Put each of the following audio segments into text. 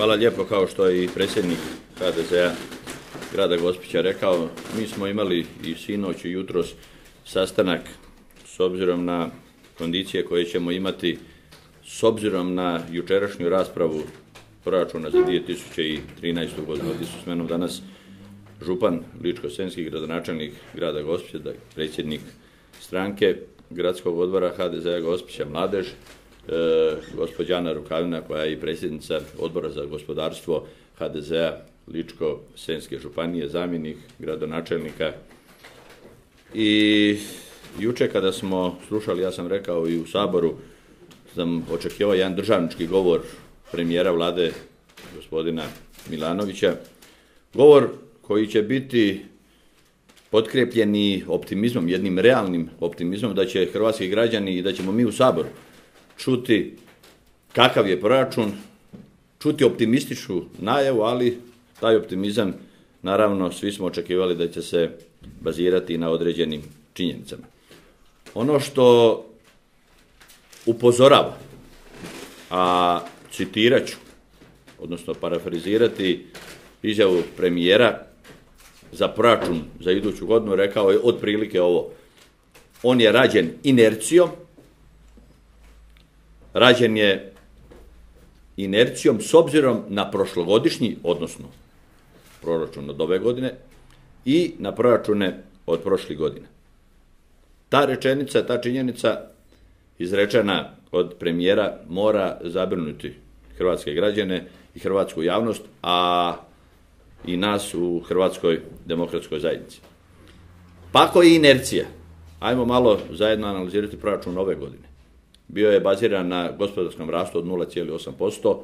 Hvala lijepo. Kao što je i predsjednik HDZ-a grada Gospića rekao, mi smo imali i sinoć i jutros sastanak s obzirom na kondicije koje ćemo imati, s obzirom na jučerašnju raspravu proračuna za 2013. godinu. Ovdje su s menom danas župan Ličko-senjski, gradonačelnik grada Gospića, predsjednik stranke gradskog odbora HDZ-a Gospića Mladež, gospođa Ana Rukavina koja je i predsjednica odbora za gospodarstvo HDZ-a Ličko-senjske županije, zamjenik gradonačelnika. I jučer kada smo slušali, ja sam rekao i u Saboru, sam očekivao jedan državnički govor premijera vlade gospodina Milanovića, govor koji će biti potkrepljeni optimizmom, jednim realnim optimizmom da će hrvatski građani i da ćemo mi u Saboru čuti kakav je proračun, čuti optimističnu najavu, ali taj optimizam, naravno, svi smo očekivali da će se bazirati na određenim činjenicama. Ono što upozorava, a citirat ću, odnosno parafrazirati izjavu premijera za proračun za iduću godinu, rekao je otprilike ovo: on je rađen inercijom, rađen je inercijom s obzirom na prošlogodišnji, odnosno proračun od ove godine i na proračune od prošlih godina. Ta rečenica, ta činjenica izrečena od premijera mora zabrinuti hrvatske građane i hrvatsku javnost, a i nas u Hrvatskoj demokratskoj zajednici. Pa ako je inercija, ajmo malo zajedno analizirati proračun ove godine. Bio je baziran na gospodarskom rastu od 0,8%,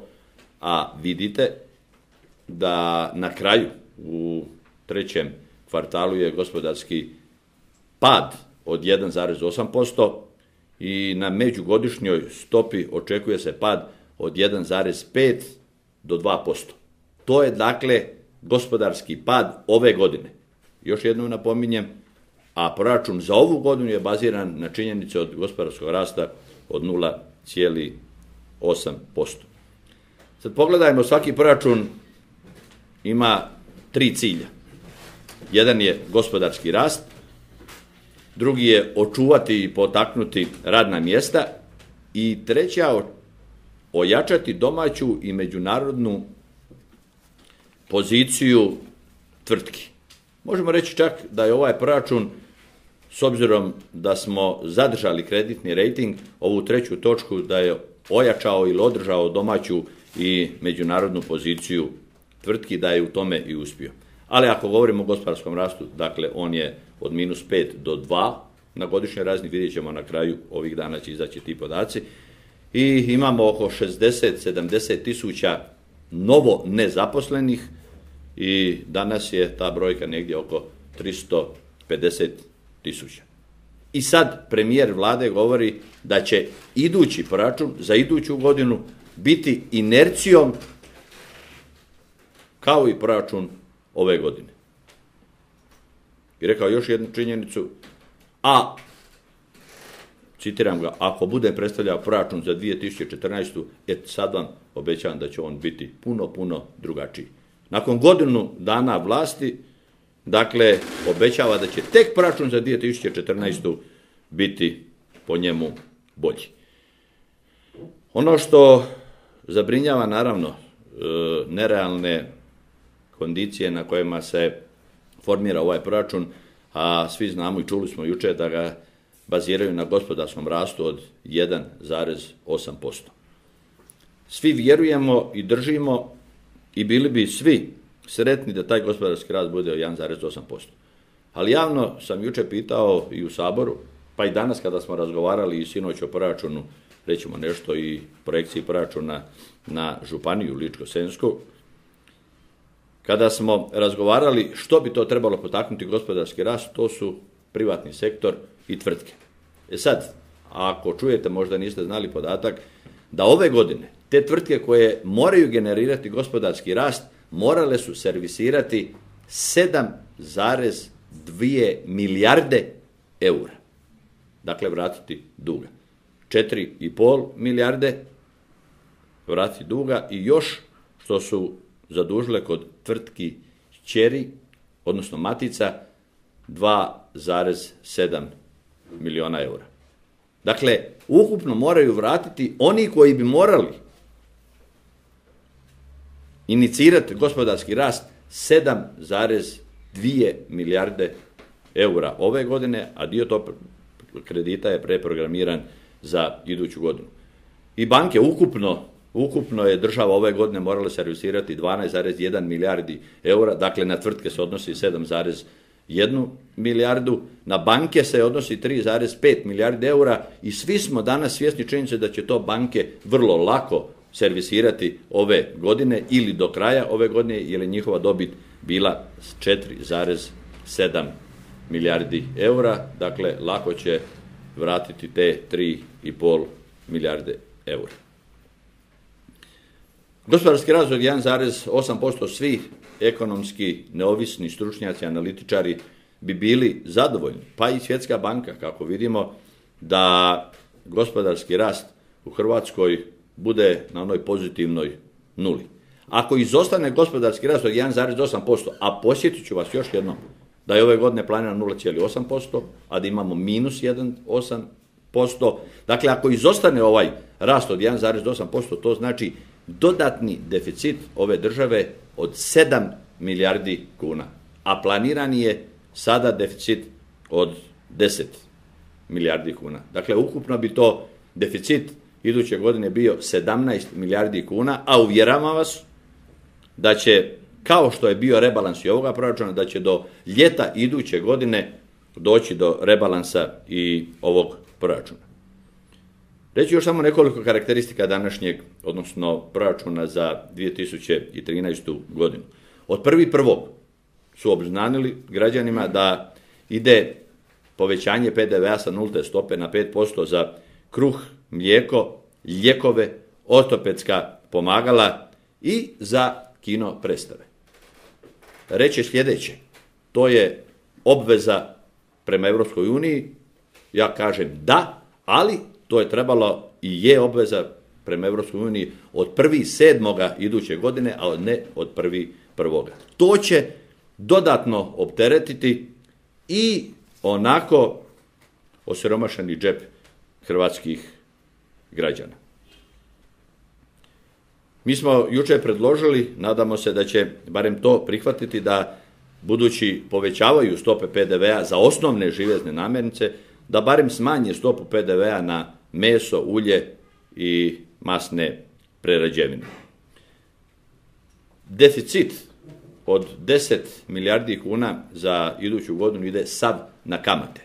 a vidite da na kraju u trećem kvartalu je gospodarski pad od 1,8% i na međugodišnjoj stopi očekuje se pad od 1,5 do 2%. To je dakle gospodarski pad ove godine. Još jednom napominjem, a proračun za ovu godinu je baziran na činjenici od gospodarskog rasta od 0,8%. Sad pogledajmo, svaki proračun ima 3 cilja. Jedan je gospodarski rast, drugi je očuvati i potaknuti radna mjesta i treća ojačati domaću i međunarodnu poziciju tvrtki. Možemo reći čak da je ovaj proračun, s obzirom da smo zadržali kreditni rejting, ovu treću točku da je ojačao ili održao domaću i međunarodnu poziciju tvrtki, da je u tome i uspio. Ali ako govorimo o gospodarskom rastu, dakle on je od -5 do 2 na godišnjoj razini, vidjet ćemo na kraju, ovih dana će izaći ti podaci, i imamo oko 60-70 tisuća novo nezaposlenih i danas je ta brojka negdje oko 350 tisuća. I sad premijer vlade govori da će idući proračun za iduću godinu biti inercijom kao i proračun ove godine. I rekao još jednu činjenicu, a citiram ga: ako bude predstavljao proračun za 2014. sad vam obećavam da će on biti puno drugačiji. Nakon godinu dana vlasti, dakle, obećava da će tek proračun za 2014. biti po njemu bolji. Ono što zabrinjava, naravno, nerealne kondicije na kojima se formira ovaj proračun, a svi znamo i čuli smo jučer da ga baziraju na gospodarskom rastu od 1,8%. Svi vjerujemo i držimo i bili bi svi sretni da taj gospodarski rast bude od 1,8%. Ali javno sam jučer pitao i u Saboru, pa i danas kada smo razgovarali i sinoć o proračunu, rećemo nešto i projekciji proračuna na županiju Ličko-senjsku, kada smo razgovarali što bi to trebalo potaknuti gospodarski rast, to su privatni sektor i tvrtke. Sad, ako čujete, možda niste znali podatak, da ove godine te tvrtke koje moraju generirati gospodarski rast morale su servisirati 7,2 milijarde eura. Dakle, vratiti duga. 4,5 milijarde vratiti duga i još što su zadužile kod tvrtki kćeri, odnosno matica, 2,7 miliona eura. Dakle, ukupno moraju vratiti oni koji bi morali inicirati gospodarski rast 7,2 milijarde eura ove godine, a dio tog kredita je preprogramiran za iduću godinu. I banke ukupno je država ove godine morala servisirati 12,1 milijardi eura, dakle na tvrtke se odnosi 7,1 milijardu, na banke se odnosi 3,5 milijardi eura i svi smo danas svjesni činjenice da će to banke vrlo lako servisirati ove godine ili do kraja ove godine, jer je njihova dobit bila 4,7 milijardi eura, dakle lako će vratiti te 3,5 milijarde eura. Gospodarski razvoj 1,8%, svi ekonomski neovisni stručnjaci, analitičari bi bili zadovoljni, pa i Svjetska banka, kako vidimo da gospodarski rast u Hrvatskoj bude na onoj pozitivnoj nuli. Ako izostane gospodarski rast od 1,8%, a posjetit ću vas još jednom da je ove godine planirano 0,8%, a da imamo minus 1,8%, dakle ako izostane ovaj rast od 1,8%, to znači dodatni deficit ove države od 7 milijardi kuna, a planirani je sada deficit od 10 milijardi kuna. Dakle, ukupno bi to deficit iduće godine bio 17 milijardi kuna, a uvjeravam vas da će, kao što je bio rebalans i ovoga proračuna, da će do ljeta iduće godine doći do rebalansa i ovog proračuna. Reći još samo nekoliko karakteristika današnjeg, odnosno proračuna za 2013. godinu. Od 1.1. su obznanili građanima da ide povećanje PDV-a sa 0 stope na 5% za kruh, mlijeko, lijekove, ortopedska pomagala i za kino predstave. Reći sljedeće, to je obveza prema Europskoj uniji, ja kažem da, ali to je trebalo i je obveza prema Europskoj uniji od 1.7. iduće godine, a ne od 1.1. To će dodatno opteretiti i onako osiromašeni džep hrvatskih građana. Mi smo jučer predložili, nadamo se da će barem to prihvatiti, da budući povećavaju stope PDV-a za osnovne živezne namirnice, da barem smanje stopu PDV-a na meso, ulje i masne prerađevine. Deficit od 10 milijardi kuna za iduću godinu ide sav na kamate.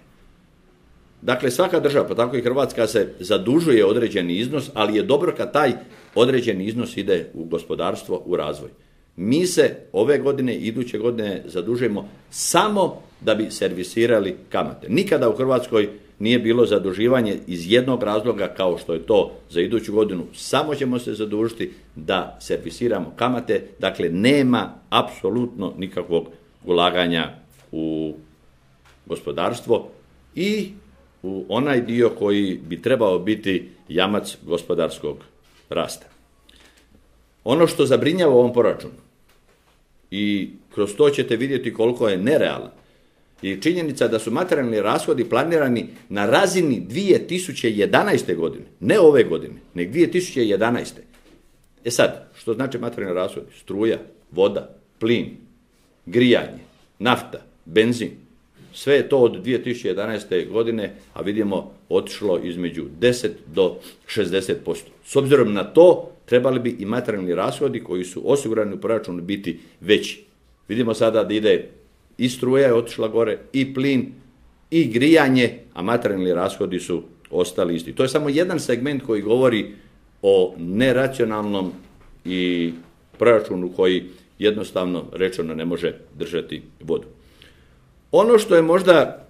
Dakle, svaka država, pa tako i Hrvatska, se zadužuje određeni iznos, ali je dobro kad taj određeni iznos ide u gospodarstvo, u razvoj. Mi se ove godine i iduće godine zadužujemo samo da bi servisirali kamate. Nikada u Hrvatskoj nije bilo zaduživanje iz jednog razloga kao što je to za iduću godinu. Samo ćemo se zadužiti da servisiramo kamate. Dakle, nema apsolutno nikakvog ulaganja u gospodarstvo i u onaj dio koji bi trebao biti jamac gospodarskog rasta. Ono što zabrinjava u ovom proračunu, i kroz to ćete vidjeti koliko je nerealan, je činjenica da su materijalni rashodi planirani na razini 2011. godine, ne ove godine, nego 2011. E sad, što znači materijalni rashodi? Struja, voda, plin, grijanje, nafta, benzin. Sve je to od 2011. godine, a vidimo, otišlo između 10 do 60%. S obzirom na to, trebali bi i materijalni rashodi koji su osigurani u proračunu biti veći. Vidimo sada da ide i struja je otišla gore, i plin, i grijanje, a materijalni rashodi su ostali isti. To je samo jedan segment koji govori o neracionalnom i proračunu koji jednostavno rečeno ne može držati vodu. Ono što je možda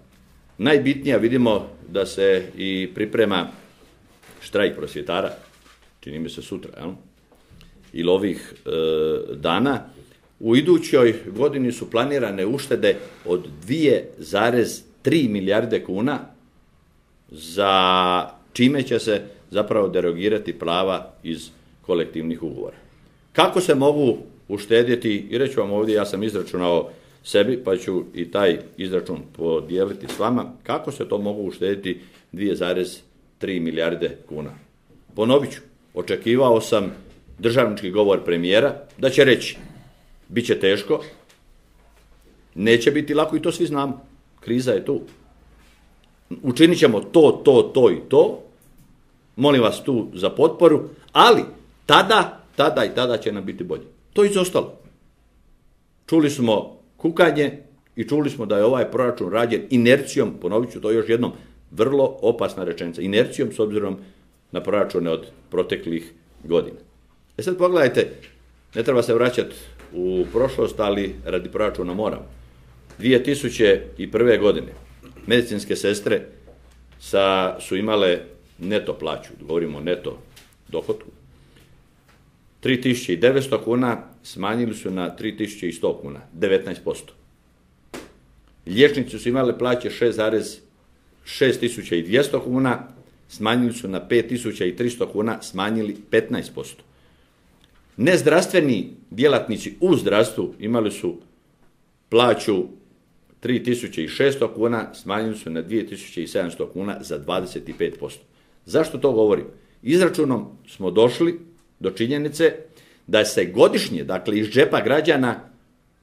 najbitnije, vidimo da se i priprema štrajk prosvjetara, čini mi se sutra, jel? Ili ovih dana. U idućoj godini su planirane uštede od 2,3 milijarde kuna, za čime će se zapravo derogirati prava iz kolektivnih ugovora. Kako se mogu uštedjeti, i reću vam ovdje, ja sam izračunao sebi, pa ću i taj izračun podijeliti s vama, kako se to mogu uštediti 2,3 milijarde kuna. Ponovit ću, očekivao sam državnički govor premijera da će reći, bit će teško, neće biti lako i to svi znamo, kriza je tu. Učinit ćemo to i to, molim vas tu za potporu, ali tada će nam biti bolje. To je izostalo. Čuli smo kukanje i čuli smo da je ovaj proračun rađen inercijom, ponovit ću to još jednom, vrlo opasna rečenica, inercijom s obzirom na proračune od proteklih godina. Sad pogledajte, ne treba se vraćati u prošlost, ali radi proračuna moramo. 2001. godine medicinske sestre su imale neto plaću, govorimo o neto dohotku, 3.900 kuna, smanjili su na 3.100 kuna, 19%. Liječnici su imali plaće 6.200 kuna, smanjili su na 5.300 kuna, smanjili 15%. Nezdravstveni djelatnici u zdravstvu imali su plaću 3.600 kuna, smanjili su na 2.700 kuna za 25%. Zašto to govorim? Izračunom smo došli do činjenice da se godišnje, dakle iz džepa građana,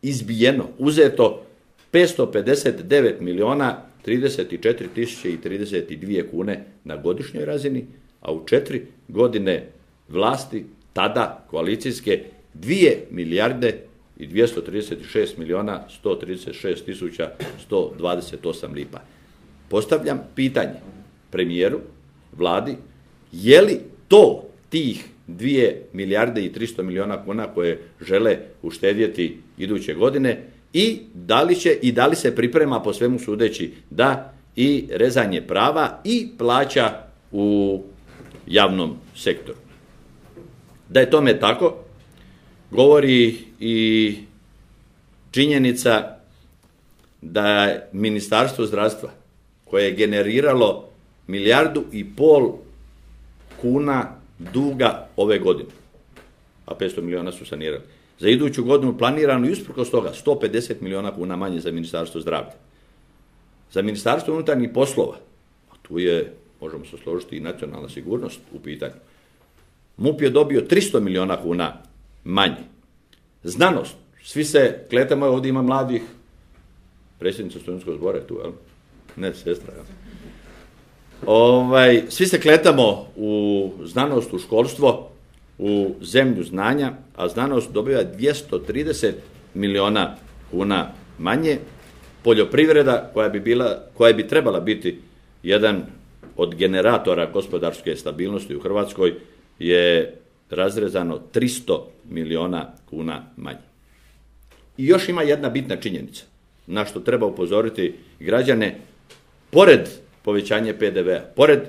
izbijeno, uzeto 559 milijuna 34 tisuće i 32 kune na godišnjoj razini, a u 4 godine vlasti, tada koalicijske, 2 milijarde i 236 milijuna 136 tisuća 128 lipa. Postavljam pitanje premijeru, vladi, je li to tih 2 milijarde i 300 milijuna kuna koje žele uštedjeti iduće godine i da li se priprema po svemu sudeći da i rezanje prava i plaća u javnom sektoru. Da je tome tako, govori i činjenica da je Ministarstvo zdravstva, koje je generiralo 1,5 milijardu kuna duga ove godine, a 500 milijuna su sanirali. Za iduću godinu planirano i usprkos toga 150 milijuna kuna manje za Ministarstvo zdravlja. Za Ministarstvo unutarnjih poslova, a tu je, možemo se složiti, i nacionalna sigurnost u pitanju, MUP je dobio 300 milijuna kuna manje. Znanost, svi se kletamo, ovdje ima mladih, predsjednica studentskog zbora je tu, jel? Ne, sestra, jel? Svi se kletamo u znanost, u školstvo, u zemlju znanja, a znanost dobiva 230 milijuna kuna manje. Poljoprivreda, koja bi trebala biti jedan od generatora gospodarske stabilnosti u Hrvatskoj, je razrezano 300 milijuna kuna manje. I još ima jedna bitna činjenica na što treba upozoriti građane, pored povećanja PDV-a, pored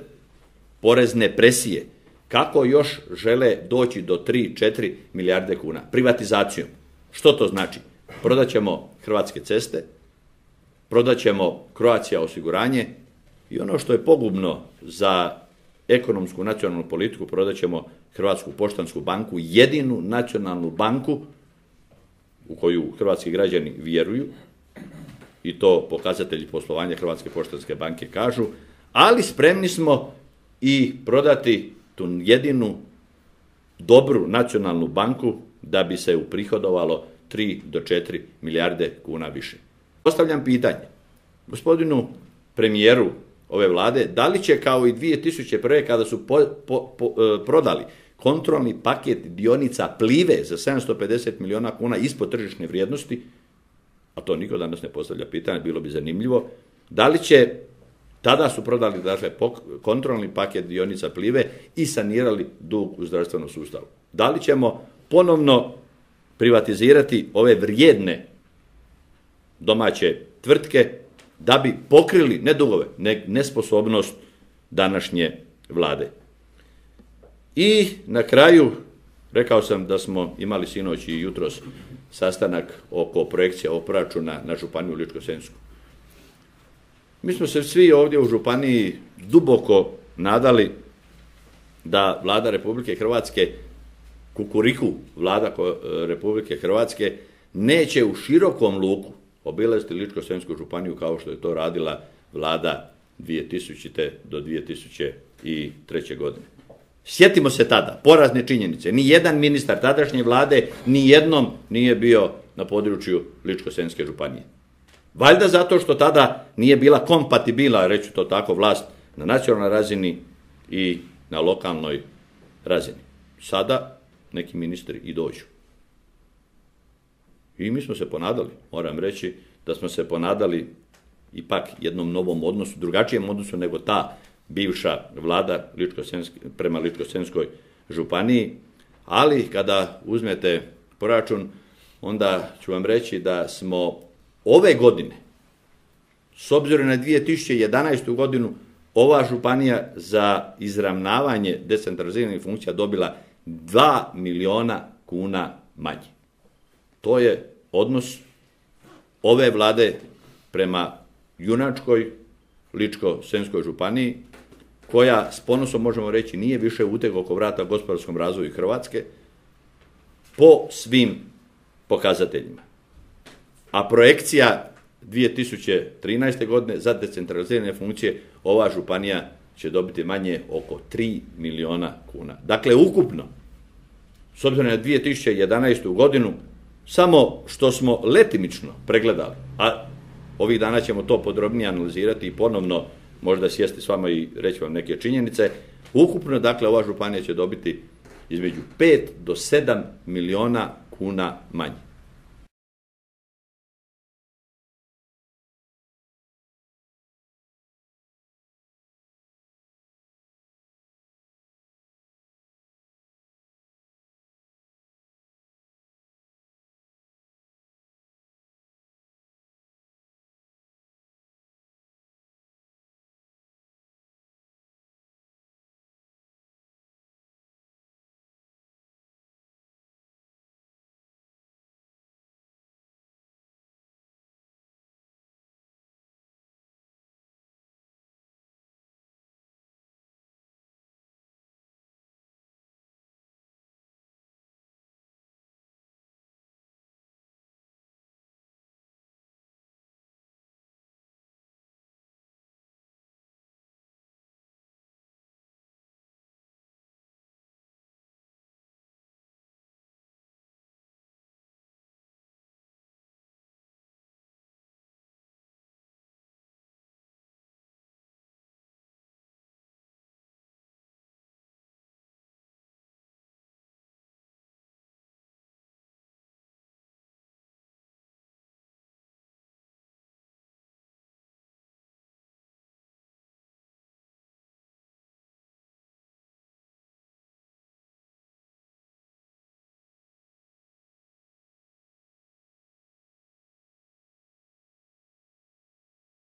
porezne presije, kako još žele doći do 3-4 milijarde kuna? Privatizacijom. Što to znači? Prodat ćemo Hrvatske ceste, prodat ćemo Croatia osiguranje i ono što je pogubno za ekonomsku nacionalnu politiku, prodat ćemo Hrvatsku poštansku banku, jedinu nacionalnu banku u koju hrvatski građani vjeruju, i to pokazatelji poslovanja Hrvatske poštanske banke kažu, ali spremni smo i prodati tu jedinu dobru nacionalnu banku da bi se uprihodovalo 3 do 4 milijarde kuna više. Postavljam pitanje gospodinu premijeru ove vlade, da li će kao i 2001. kada su prodali kontrolni paket dionica Plive za 750 milijuna kuna ispod tržišne vrijednosti, a to niko danas ne postavlja pitanje, bilo bi zanimljivo, da li će, tada su prodali dakle kontrolni paket dionica Plive i sanirali dug u zdravstvenom sustavu. Da li ćemo ponovno privatizirati ove vrijedne domaće tvrtke da bi pokrili ne dugove, nesposobnost današnje vlade. I na kraju, rekao sam da smo imali sinoć i jutros sastanak oko projekcija ovog proračuna na županiju Ličko-senjsku. Mi smo se svi ovdje u županiji duboko nadali da Vlada Republike Hrvatske Kukuriku vlada Republike Hrvatske neće u širokom luku obilaziti Ličko-senjsku županiju kao što je to radila vlada 2000. do 2003. godine. Sjetimo se tada, porazne činjenice, ni jedan ministar tadašnje vlade ni jednom nije bio na području Ličko-senjske županije. Valjda zato što tada nije bila kompatibilna, reći to tako, vlast na nacionalnoj razini i na lokalnoj razini. Sada neki ministri i dođu. I mi smo se ponadali, moram reći, da smo se ponadali ipak jednom novom odnosu, drugačijem odnosu nego ta bivša vlada prema Ličko-senjskoj županiji, ali kada uzmete proračun, onda ću vam reći da smo ove godine, s obzirom na 2011. godinu, ova županija za izravnavanje decentraliziranih funkcija dobila 2 miliona kuna manje. To je odnos ove vlade prema junačkoj Ličko-senjskoj županiji, koja s ponosom možemo reći nije više uteg oko vrata gospodarskom razvoju Hrvatske po svim pokazateljima. A projekcija 2013. godine za decentralizirane funkcije ova županija će dobiti manje oko 3 miliona kuna. Dakle, ukupno, s obzirom na 2011. godinu, samo što smo letimično pregledali, a ovih dana ćemo to podrobnije analizirati i ponovno možda sjesti s vama i reći vam neke činjenice, ukupno, dakle, ova županija će dobiti između 5 do 7 miliona kuna manje.